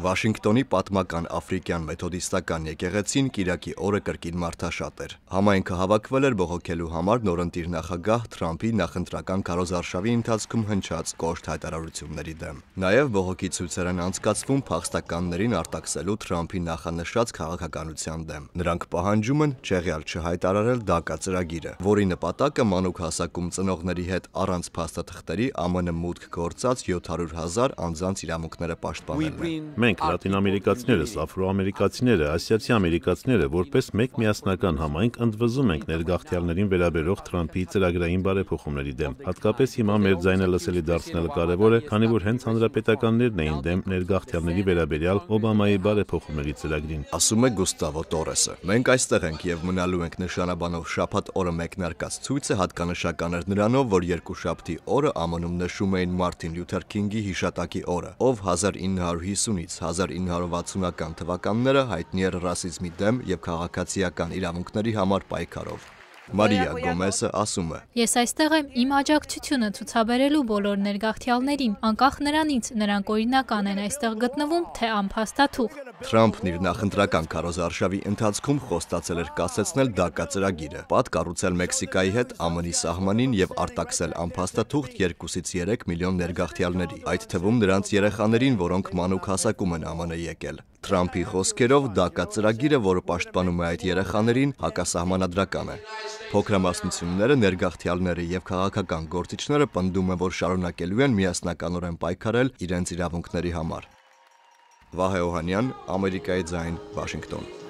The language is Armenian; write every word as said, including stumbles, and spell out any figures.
Վաշինգտոնի պատմական աֆրիկյան մեթոդիստական եկեղեցին կիրակի օրը կրկին մարդաշատ էր։ Համայնքը հավաքվել էր բողոքելու համար նորընտիր նախագահ Թրամփի նախընտրական քարոզարշավի ընթացքում հնչած կոշտ հայտարարությունների դեմ։ Նաև բողոքի ցույցեր են անցկացվում փախստականներին արտաքսելու Թրամփի նախանշած քաղաքականության դեմ։ Նրանք պահանջում են չեղյալ չհայտարարել դակա ծրագիրը, որի նպատակը մանուկ հասակում ծնողների հետ առանց փաստաթղթերի ԱՄՆ մուտք գործած յոթ հարյուր հազար անձանց իրավունքները պաշտպանելն է։ Մենք լատինամերիկացիներս, աֆրոամերիկացիները, ասիացի ամերիկացիները որպես մեկ միասնական համայնք ընդվզում ենք ներգաղթյալներին վերաբերող Թրամփի ծրագրային բարեփոխումների դեմ։ Հատկապես հիմա մեր ձայնը լսելի դարձնելը կարևոր է, քանի որ հենց հանրապետականներն էին դեմ ներգաղթյալների վերաբերյալ Օբամայի բարեփոխումների ծրագրին, ասում է Գուստավո Տորեսը։ Մենք այստեղ ենք եւ մնալու ենք նշանաբանով շաբաթ օրը մեկնարկած ցույցը հատկանշական էր նրանով, որ երկուշաբթի օրը ԱՄՆ-ում նշում էին Մարտին Լյութեր Քինգի հիշատակի օրը, ով հազար ինը հարյուր հիսունից հազար ինը հարյուր վաթսունական թվականները հայտնի էր ռասիզմի դեմ եւ քաղաքացիական իրավունքների համար պայքարով։ Մարիա Գոմեսը ասում է. Ես այստեղ եմ իմ աջակցությունը ցուցաբերելու բոլոր ներգաղթյալներին, անկախ նրանից նրանք օրինական են այստեղ գտնվում, թե անփաստաթուղթ։ Թրամփն իր նախընտրական քարոզարշավի ընթացքում խոստացել էր կասեցնել դակա ծրագիրը, պատ կառուցել Մեքսիկայի հետ ԱՄՆ-ի սահմանին եւ արտաքսել անփաստաթուղթ երկուսից երեք միլիոն ներգաղթյալների, այդ թվում նրանց երեխաներին, որոնք մանուկ հասակում են ԱՄՆ եկել։ Թրամփի խոսքերով դակա ծրագիրը, որը պաշտպանում է այդ երեխաներին, հակասահմանադրական է։ Փոքրամասնությունները, ներգաղթյալները եւ քաղաքական գործիչները պնդում են, որ շարունակելու են միասնականորեն պայքարել իրենց իրավունքների համար։ Վահե Օհանյան, Ամերիկայի ձայն, Վաշինգտոն։